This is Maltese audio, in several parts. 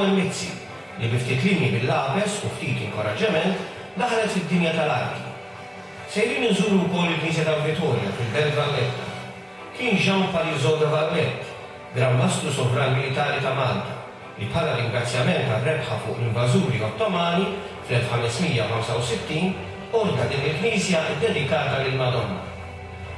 Joanne Mizzi, li bi ftit linji bil-lapes u ftit inkoraġġement daħlet fid-dinja tal-arti. Sejrin inżuru wkoll il-Knisja tal-Vitorja fil-Belt Valletta. Kien Jean Parisot de Valette, Gran Mastru Sovran Militari ta' Malta, li bħala ringrazzjament għar-rebħa fuq l-invażuri Ottomani fl-1565 ordna din il-knisja ddedikata lill-Madonna.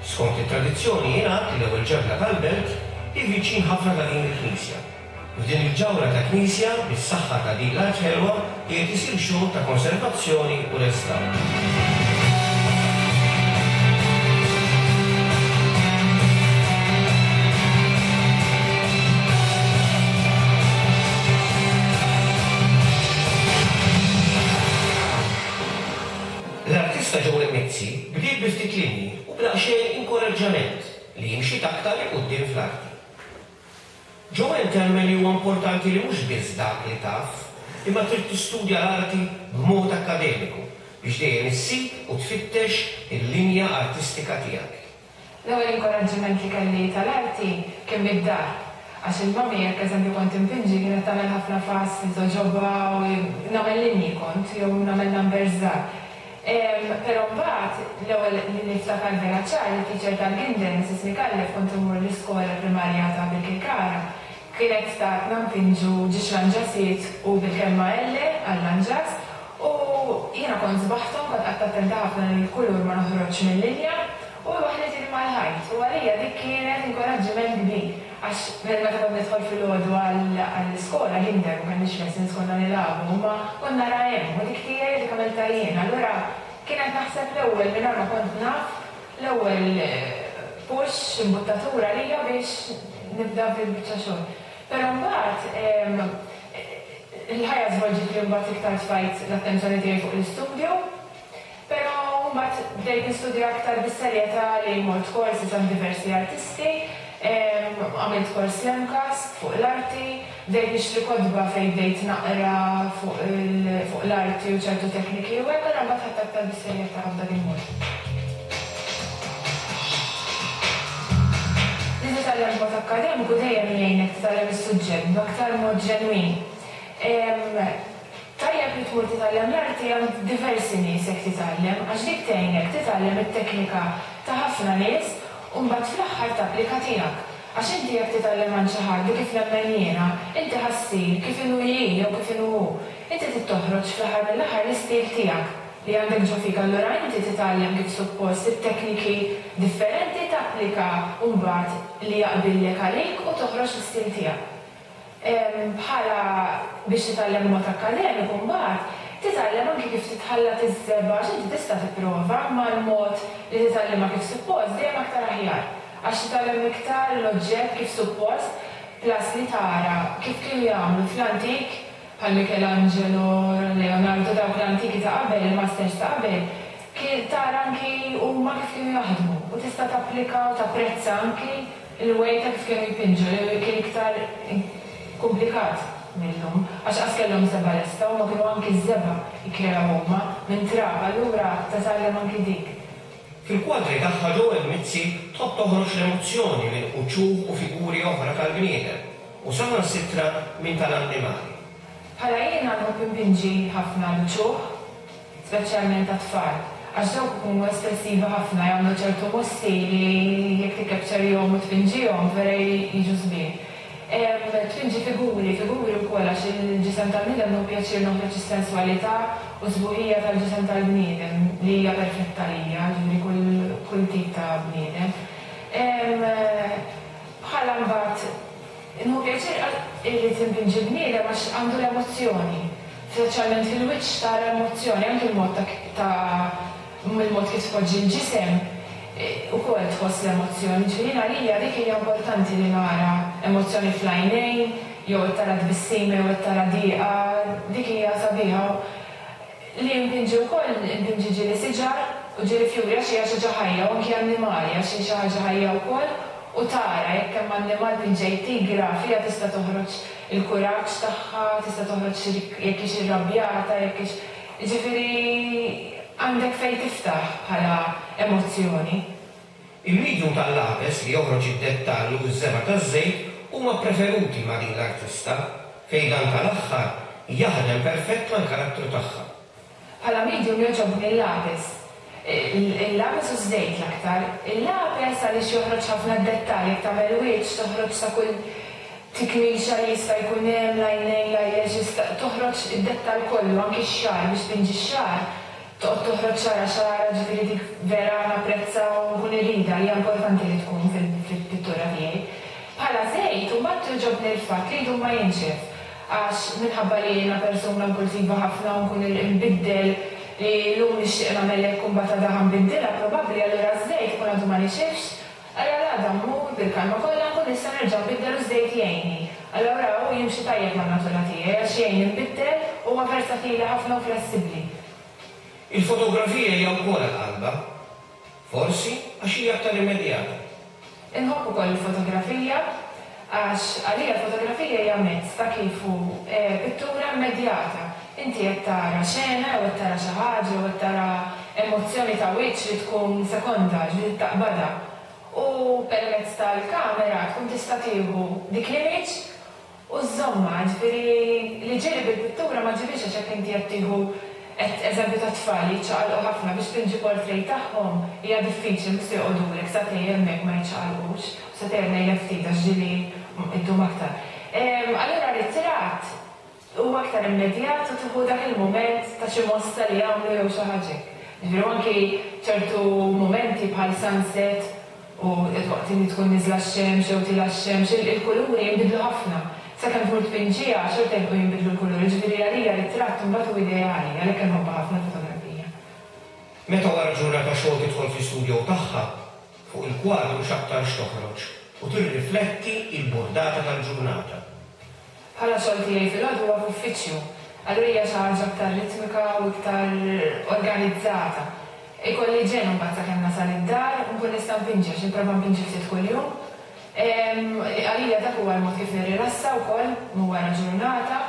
Skont it-tradizzjoni jingħad li l-ewwel ġebla tal-belt hi viċin ħafna ta' din il-knisja. F'din il-ġawhra ta' knisja, bis-saħħa ta' din l-art ħelwa, qiegħed isir xogħol ta' konservazzjoni u restawr. L-artista Joel Mizzi bdiet bi ftit linji u b'daqsxejn inkoraġġament li imxiet aktar 'il quddiem fl-arti. Joanne temmen li huwa importanti li mhux biss dak li taf, imma trid tistudja l-arti b'mod akkademiku biex dejjem issib u tfittex il-linja artistika tiegħek. L-ewwel inkoraġġiment li kelli tal-arti kien mid-dar. Għax il-mummy jekk eżempju kont inpinġi kienet tagħmel ħafna fuss li togħġobha u nagħmel linji kont jew nagħmel numbers żgħar. Però mbagħad l-ewwel li niftakar vera ċar li t-teacher tal-Kinder, Mrs Micallef, kont immur l-iskola primarja ta' Birkirkara, kienet tatna npinġu ġiex lanġasiet u bil-kelma elle għal-lanġas u jiena kont żbaħthom, kont qgħadt attenta ħafna li l-kulur ma noħroġx mil-linja u waħħlitili mal-ħajt u għalija dik kienet inkoraġġiment kbir. Għax meta kont nidħol filgħodu għall-iskola, kinder, ma kellniex lessons konna nilagħbu, imma kont nara hemm u dik tiegħi dik għamiltha jien. Allura kienet naħseb l-ewwel mingħajr ma kont naf, l-ewwel push, imbuttatura għalija biex nibda f'dil-biċċa xogħol. Però mbagħad il-ħajja żvolġiet li mbagħad iktar tfajt l-attenzjoni tiegħi fuq l-istudju. Però mbagħad bdejt nistudja aktar bis-serjetà li mort korsi għand diversi artisti, għamilt kors l-MCAST fuq l-arti, bdejt nixtri kotba fejn bdejt naqra fuq fuq l-arti u ċertu tekniki u hekk, allura mbagħad ħadt aktar bis-serjetà f'dak il-mod. Li titgħallem b'mod akkademiku dejjem jgħinek titgħallem is-suġġett b'aktar mod ġenwin. Tajjeb li tmur titgħallem l-arti għand diversi nies jekk titgħallem għax dik tgħinek titgħallem it-teknika ta' ħafna nies u mbagħad fl-aħħar tapplika tiegħek. Għax inti jekk titgħallem għand xi ħadd u kif nemmen jiena, inti ħa ssir kif inhu hi jew kif inhu hu. Inti trid toħroġ fl-aħħar mill-aħħar l-istil tiegħek li għandek ġo fik allura inti titgħallem kif suppost it-tekniki differenti tapplika mbagħad li jaqbillek għalik u toħroġ l-istil tiegħek. Bħala biex titgħallem b'mod akkademiku mbagħad, titgħallem anki kif titħallat iż-żebgħa għax inti tista' tipprova imma l-mod li titgħallimha kif suppost dejjem aktar aħjar. Għax titgħallem iktar l-oġġett kif suppost plus li tara kif kienu jagħmlu fl-antik bħal Michelangelo, Leonardo dawk l-antiki ta' qabel, il-masters ta' qabel, kien tara anki huma kif kienu jaħdmu u tista' tapplika u tapprezza anki Il-way ta' kif kienu jpinġu li kien iktar kumplikat mil-lum għax qas kellhom żebgħa lesta huma kienu anki ż-żebgħa jikkreaw huma minn trab allura titgħallem anki dik. Fil-kwadri tagħha Joel Mizzi tħobb toħroġ l-emozzjoni minn uċuħ u figuri oħra tal-bniedem u saħansitra minn tal-annimali. Bħala jiena nħobb inpinġi ħafna l-uċuħ, speċjalment tat-tfal, għax dawk ikunu espressivi ħafna, jagħmlu ċertu mossi li jekk tikkepċerihom u tpinġihom vera jiġu sbieħ. Tpinġi figuri, figuri wkoll għax il-ġisem tal-bniedem nieħu pjaċir noħroġ is-senswalità u s-sbuħija tal-ġisem tal-bniedem li hija perfetta għalija, jiġifieri kull kull tip ta' bniedem. Bħala mbagħad Nieħu pjaċir irrid inpinġi bniedem għax għandu l-emozzjoni. Speċjalment fil-wiċċ tara emozzjoni, anki l-mod ta' ta' mill-mod kif tpoġġi l-ġisem ukoll tħoss l-emozzjoni. Ġifieri jien għalija dik hija importanti li nara emozzjoni fl-għajnejn jew qed tara tbissima jew qed tara dieqa, dik hija sabiħa. Li npinġi wkoll, npinġi ġieli siġar u ġieli fjuri għax hija xi ħaġa ħajja u anki annimali għax hi xi ħaġa ħajja wkoll u tara jekk hemm annimal pinġejt tigra fiha tista' toħroġ il-kuraġġ tagħha, tista' toħroġ jekk hix irrabjata, jekk hix, jiġifieri għandek fejn tiftaħ bħala emozzjoni. Il-medium tal-lapes li joħroġ id-dettall u ż-żebgħa taż-żejt huma ppreferuti ma' din l-artista. fejn dan tal-aħħar jaħdem perfett mal-karattru tagħha. Bħala medium jogħġobni l-lapis. Il-lapis u ż-żejt l-aktar. Il-lapis għaliex joħroġ ħafna d-dettall, jekk tagħmel wiċċ toħroġ sa kull tikmixa li jista' jkun hemm, l-għajnejn, l-eyelashes, toħroġ id-dettall kollu, anki x-xagħar, biex tpinġi x-xagħar toqgħod toħroġ xagħra xagħra, ġifieri dik vera napprezza u nkun irridha, hija importanti li tkun fil-pittura tiegħi. Bħala żejt imbagħad jogħġobni l-fatt li jdum ma jinxef. Għax minħabba li jiena persuna impulsiva ħafna u nkun inbiddel li llum nixtieq nagħmel hekk u mbagħad għada ħa nbiddilha probabbli allura ż-żejt ikun għadu ma nixifx, allura l-għada mmur bil-kalma kollha nkun nista' nerġa' nbiddel u ż-żejt jgħinni. Allura hu jimxi tajjeb man-natura tiegħi għax jgħinni nbiddel u huwa versatili ħafna u flessibbli. Il-fotografija hija wkoll għal qalbha. Forsi għax hija aktar immedjata. Inħobb ukoll il-fotografija għax għalija l-fotografija hija mezz ta' kif hu pittura immedjata. Inti qed tara xena jew qed tara xi ħaġa jew qed tara emozzjoni ta' wiċċ li tkun sekonda, ġifieri taqbadha. U permezz tal-kamera tkun tista' tieħu dik l-image U żżommha, jiġifieri li ġieli bil-pittura ma ġġibhiex għax jekk inti qed tieħu qed eżempju ta' tfal jiċċaqalqu ħafna biex tpinġi portrait tagħhom hija diffiċli mhux se joqogħdulek sagħtejn hemmhekk ma jiċċaqalqux, u sagħtejn qed ngħidlek ftit għax ġieli ddum aktar. Allura ritratt huwa aktar immedjat u tieħu dak il-mument ta' xi mossa li jagħmlu jew xi ħaġa hekk. Jiġifieri u anki ċertu mumenti bħal sunset U waqt li tkun nieżla x-xemx jew tielgħa x-xemx, il-kuluri jinbidlu ħafna. Sakemm tmur tpinġiha, xorta jibqgħu jinbidlu l-kuluri. Ġifieri għalija ritratt imbagħad hu ideali, għalhekk inħobbha ħafna l-fotografija. Meta wara ġurnata xogħol tidħol fl-istudio tagħha, fuq il-kwadru x'aktarx toħroġ u tirrifletti l-burdata tal-ġurnata. Bħala xogħol tiegħi filgħodu huwa f'uffiċċju, allura hija xi ħaġa aktar ritmika u iktar organizzata. Ikolli ġenn imbagħad sakemm nasal id-dar u nkun nista' npinġi għax nipprova npinġi ftit kuljum. Għalija dak huwa l-mod kif nirrilassa wkoll minn wara ġurnata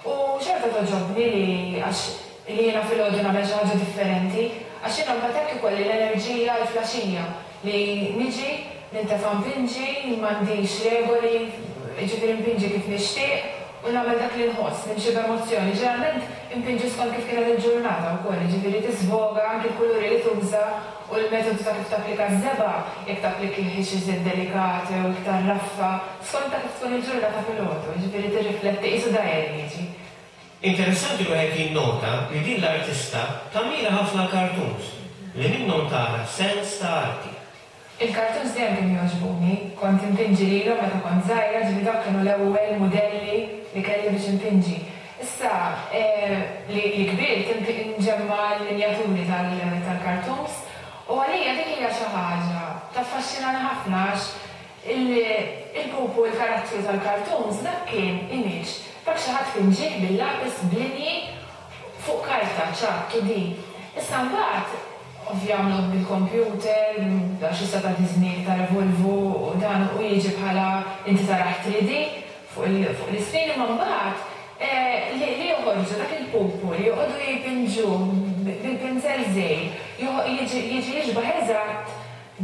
u xorta togħġobni li għax li jiena filgħodu nagħmel xi ħaġa differenti għax jiena mbagħad hekk ikolli l-enerġija għall-flaxija li niġi nintefa' npinġi, m'għandix regoli, jiġifieri npinġi kif nixtieq u nagħmel dak li nħoss, nimxi b'emozzjoni. Ġeneralment inpinġi skont kif kienet il-ġurnata wkoll, jiġifieri tiżvoga anki l-kuluri li tuża u l-metodu ta' kif tapplika ż-żebgħa, jekk tapplikihiex iżjed delikat jew iktar raffa, skont ta' kif tkun il-ġurnata filgħodu, jiġifieri tirrifletti qisu diary jiġi. Interessanti li wieħed jinnota li din l-artista tammira ħafna l-cartoons li minnhom tara sens ta' arti. Il-cartoons dejjem kienu jogħġbuni. Kont inpinġi lilhom meta kont żgħira, ġifieri dawk kienu l-ewwel mudelli li kelli biex inpinġi. Issa li li kbirt nġemma' l-minjaturi tal-cartoons u għalija dik hija xi ħaġa taffaxxinani ħafna għax il-pupu, il-karattru tal-cartoons dak kien image, dak xi ħadd pinġieh bil-lapis b'linji fuq karta, ċatt, 2D. Issa mbagħad Ovvja għamluh bil-kompjuter, għax issa ta' Disney iktar evolvu u dan u jiġi bħala inti tarah 3D fuq l-iscreen imma mbagħad li li joħorġu dak il-pupu li joqogħdu jpinġuh bil-pinzell żgħir jiġi jixbah eżatt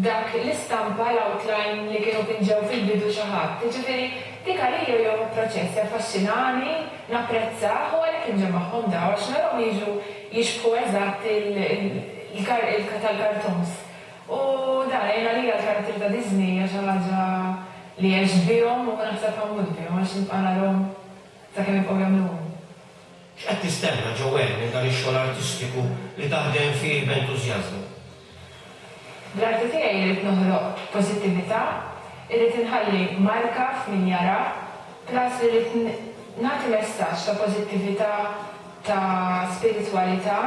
dak l-istampa, l-outline li kienu pinġew fil-bidu xi ħadd. Jiġifieri dik għalija huwa proċess jaffaxxinani, napprezzah u għalhekk inġemmagħhom dawn għax narahom jiġu jixbħu eżatt il tal-cartoons. U dan, jien għalija l-karattri ta' Disney hija xi ħaġa li għext bihom u naħseb ħa mmut bihom għax nibqa' narahom sakemm jibqgħu jagħmluhom. X'qed tistenna, Joanne, minn dan ix-xogħol artistiku li taħdem fih b'entużjażmu? Bl-arti tiegħi irrid noħloq pożittività, irrid inħalli marka f'min jara, plus irrid nagħti messaġġ ta' pożittività, ta' spiritwalità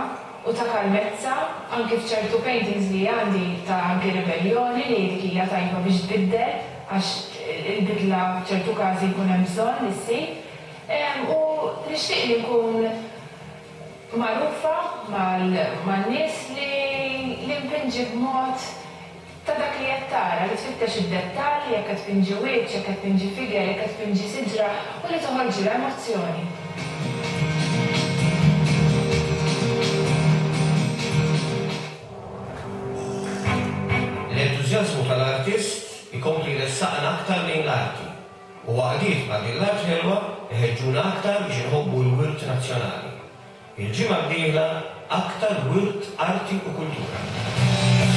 u ta' kalmezza anki f'ċertu paintings li għandi ta' anki ribelljoni li dik hija tajba biex tbiddel għax il-bidla f'ċertu każi jkun hemm bżonn li ssir. U nixtieq li nkun magħrufa man-nies li li npinġi b'mod ta' dak li qed tara, li tfittex id-dettall, jekk qed tpinġi wiċċ, jekk qed tpinġi figure, jekk qed tpinġi siġra, u li toħorġilha emozzjoni. L-entużjażmu tal-artist ikompli jressaqna aktar lejn l-arti. U għaqdiet bħal din l-Art Ħelwa iħeġġuna aktar biex inħobbu l-wirt nazzjonali. Il-ġimgħa d-dieħla aktar wirt arti u kultura.